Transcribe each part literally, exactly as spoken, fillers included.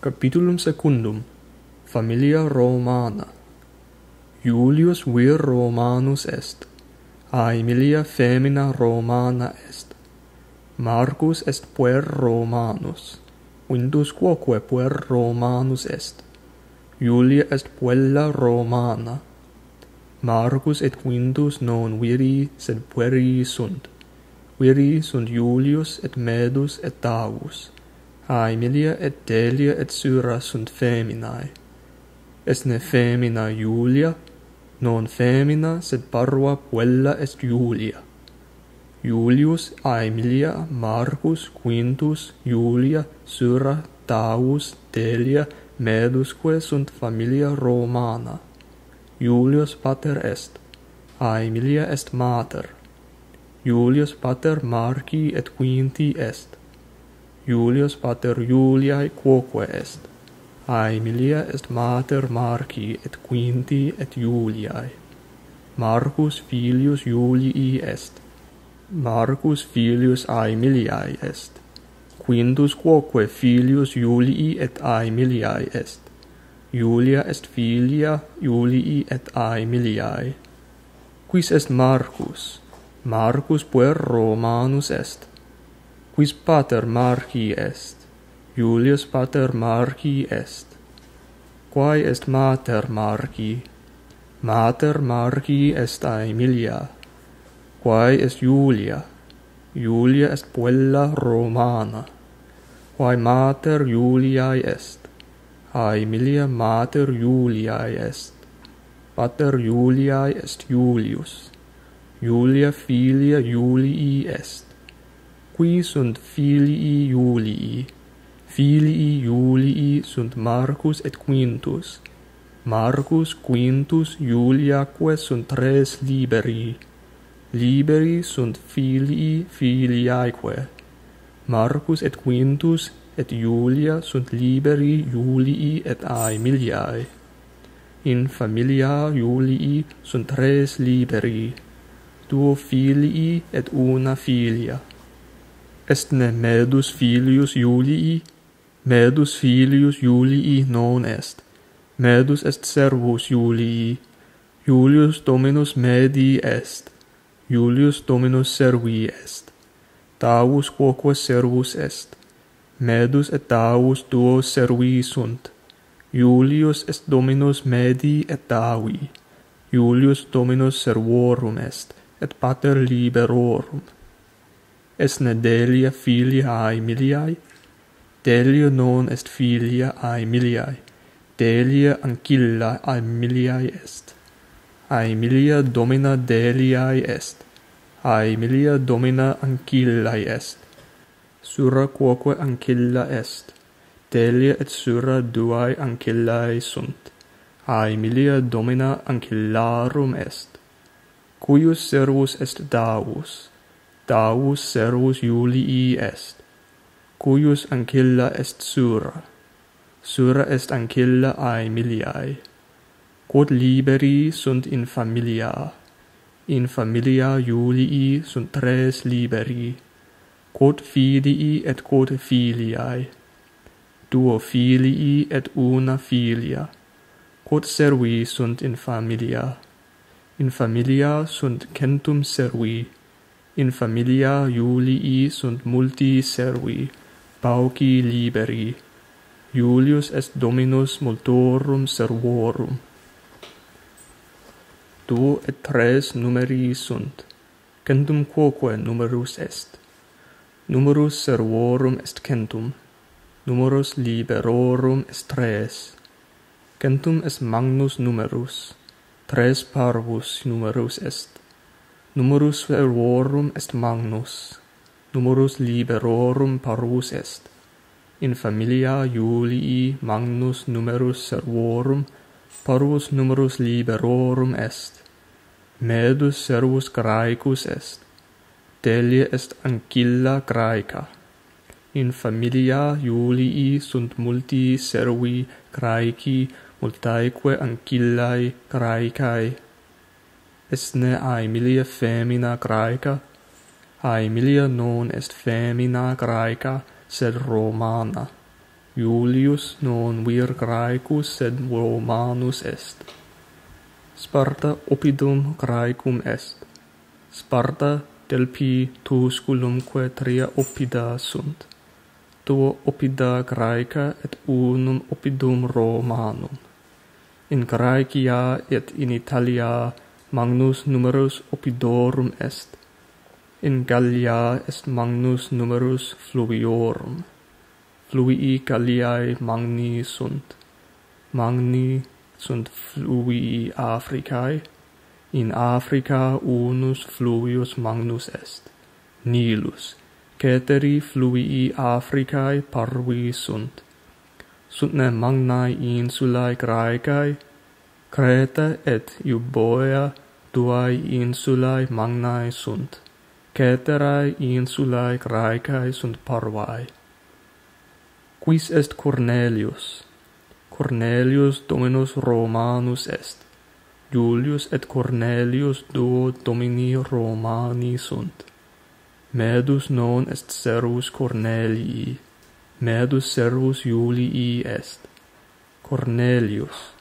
Capitulum secundum. Familia Romana. Iulius vir Romanus est. Aemilia femina Romana est. Marcus est puer Romanus. Quintus quoque puer Romanus est. Iulia est puella Romana. Marcus et Quintus non viri, sed pueri sunt. Viri sunt Iulius et Medus et Tavus. Aemilia et Delia et Sura sunt feminae. Est ne femina Iulia? Non femina, sed parva puella est Iulia. Iulius, Aemilia, Marcus, Quintus, Iulia, Sura, Tavus, Delia, Medusque sunt familia Romana. Iulius pater est. Aemilia est mater. Iulius pater Marci et Quinti est. Iulius pater Iuliae quoque est. Aemilia est mater Marci et Quinti et Iuliae. Marcus filius Iulii est. Marcus filius Aemiliae est. Quintus quoque filius Iulii et Aemiliae est. Iulia est filia Iulii et Aemiliae. Quis est Marcus? Marcus puer Romanus est. Quis pater Marci est? Iulius pater Marci est. Quae est mater Marci? Mater Marci est Aemilia. Quae est Iulia? Iulia est puella Romana. Quae mater Iuliae est? Aemilia mater Iuliae est. Pater Iuliae est Iulius. Iulia filia Iulii est. Qui sunt filii Iulii? Filii Iulii sunt Marcus et Quintus. Marcus, Quintus, Iuliaque sunt res liberi. Liberi sunt filii filiaeque. Marcus et Quintus et Iulia sunt liberi Iulii et Aemiliae. In familia Iulii sunt res liberi, duo filii et una filia. Est ne Medus filius Iulii? Medus filius Iulii non est. Medus est servus Iulii. Iulius dominus Medii est. Iulius dominus servi est. Tavus quoque servus est. Medus et Tavus duo servi sunt. Iulius est dominus Medii et Tavi. Iulius dominus servorum est, et pater liberorum. Est ne Delia filia Aemiliae? Delia non est filia Aemiliae. Delia ancilla Aemiliae est. Aemilia domina Deliae est. Aemilia domina ancillae est. Sura quoque ancilla est. Delia et Sura duae ancillae sunt. Aemilia domina ancillarum est. Cuius servus est Tavus? Tavus servus Iulii est. Cuius ancilla est Sura? Sura est ancilla Aemiliae. Quod liberi sunt in familia? In familia Iulii sunt res liberi. Quod filii et quod filiae? Duo filii et una filia. Quod servi sunt in familia? In familia sunt centum servi. In familia Iulii sunt multi servi, pauci liberi. Iulius est dominus multorum servorum. Duo et tres numeri sunt. Centum quoque numerus est. Numerus servorum est centum. Numerus liberorum est tres. Centum est magnus numerus. Tres parvus numerus est. Numerus servorum est magnus. Numerus liberorum parvus est. In familia Iulii magnus numerus servorum, parvus numerus liberorum est. Medus servus Graecus est. Delia est ancilla Graeca. In familia Iulii sunt multi servi Graeci, multaeque ancillae Graecae. Est ne Aemilia femina Graeca? Aemilia non est femina Graeca, sed Romana. Iulius non vir Graecus sed Romanus est. Sparta oppidum Graecum est. Sparta, Delphi, Tusculumque tria oppida sunt. Duo oppida Graeca et unum oppidum Romanum. In Graecia et in Italia magnus numerus oppidorum est. In Gallia est magnus numerus fluiorum. Fluvii Galliae magni sunt. Magni sunt fluvii Africae. In Africa unus fluvius magnus est, Nilus. Ceteri fluvii Africae parvi sunt. Sunt ne magnae insulae Graecae? Creta et Euboea duae insulae magnae sunt. Ceterae insulae Graecae sunt parvae. Quis est Cornelius? Cornelius dominus Romanus est. Iulius et Cornelius duo domini Romani sunt. Medus non est servus Cornelii, medus servus Iulii est. Cornelius.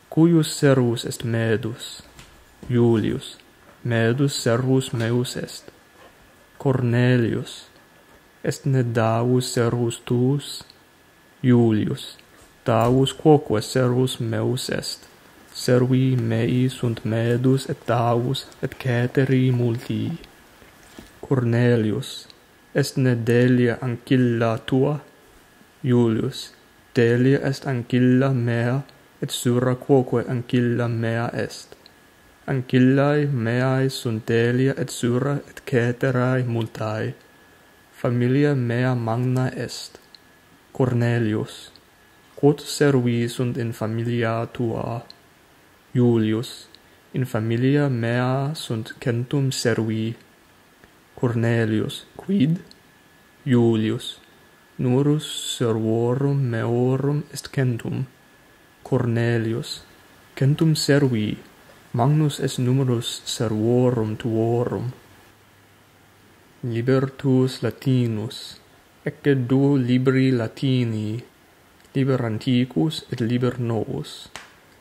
Cuius servus est Medus? Iulius. Medus servus meus est. Cornelius. Est ne Davus servus tuus? Iulius. Davus quoque servus meus est. Servi mei sunt Medus et Davus et ceteri multi. Cornelius. Est ne Delia ancilla tua? Iulius. Delia est ancilla mea et Sura quoque ancilla mea est. Ancillae meae sunt Delia et Sura et ceterae multae. Familia mea magna est. Cornelius. Quot servi sunt in familia tua? Iulius. In familia mea sunt centum servi. Cornelius. Quid? Iulius. Numerus servorum meorum est centum. Cornelius. Centum servi. Magnus est numerus servorum tuorum. Liber tuus Latinus. Ecce duo libri Latini. Liber antiquus et liber novus.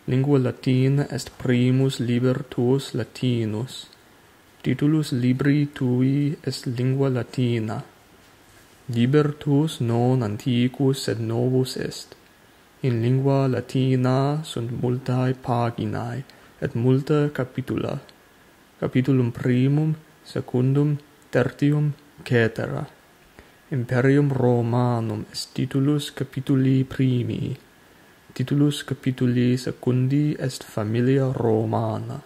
Lingua Latina est primus liber tuus Latinus. Titulus libri tui est Lingua Latina. Liber tuus non antiquus sed novus est. In Lingua Latina sunt multae paginae et multa capitula. Capitulum primum, secundum, tertium, cetera. Imperium Romanum est titulus capituli primi. Titulus capituli secundi est Familia Romana.